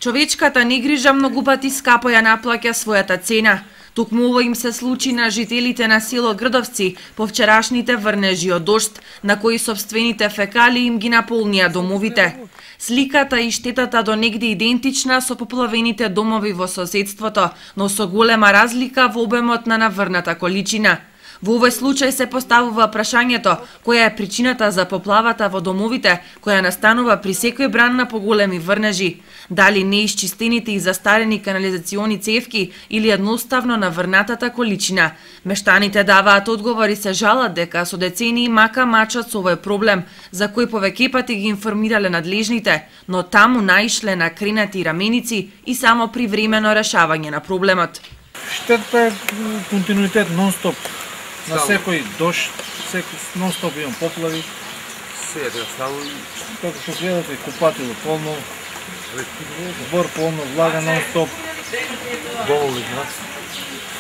Човечката негрижа многу пати скапо ја наплаќа својата цена. Токму ово им се случи на жителите на село Грдовци по вчерашните врнежи од дожд, на кои собствените фекали им ги наполнија домовите. Сликата и штетата до негде идентична со поплавените домови во соседството, но со голема разлика во обемот на наврната количина. Во овој случај се поставува прашањето која е причината за поплавата во домовите, која настанува при секој бран на поголеми врнежи. Дали неисчистените и застарени канализациони цевки или едноставно наврнатата количина. Мештаните даваат одговор и се жалат дека со децении мака мачат со овој проблем, за кој повеќе пати ги информирале надлежните, но таму наишле на кренати раменици и само привремено решавање на проблемот. Штетата е континуитет нон-стоп. На секој дожд, нон-стоп имам поплави. Како што гледате, купатило полно, двор полно, влага нон-стоп.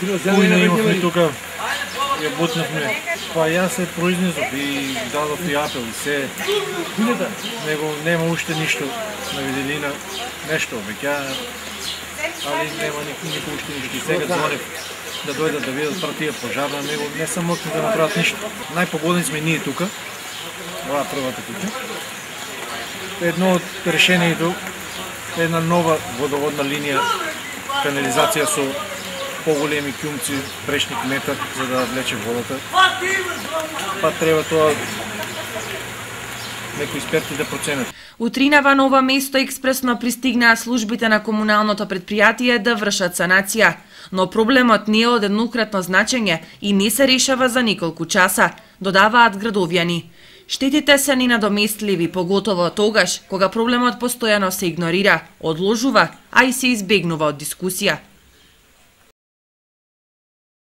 Кујна имавме тука, ја бутнавме. Па јас се произнесов и дадов и апел и се. Него нема уште ништо на виделина, нешто обеќаја, али нема никој уште ништо. И сега звонев да дојдат да видат партија пожарна, него не се можат да направат ништо. Најпогодни сме ние тука, ова првата куќа. Едно од решението е една нова водоводна линија, канализација со поголеми кјумци, прешник метар, за да влече водата. Па треба тоа некои експерти да проценат. Утринава на ова место експресно пристигнаа службите на комуналното претпријатие да вршат санација, но проблемот не е од еднократно значење и не се решава за неколку часа, додаваат градовјани. Штетите се ненадоместливи, поготово тогаш кога проблемот постојано се игнорира, одложува, а и се избегнува од дискусија.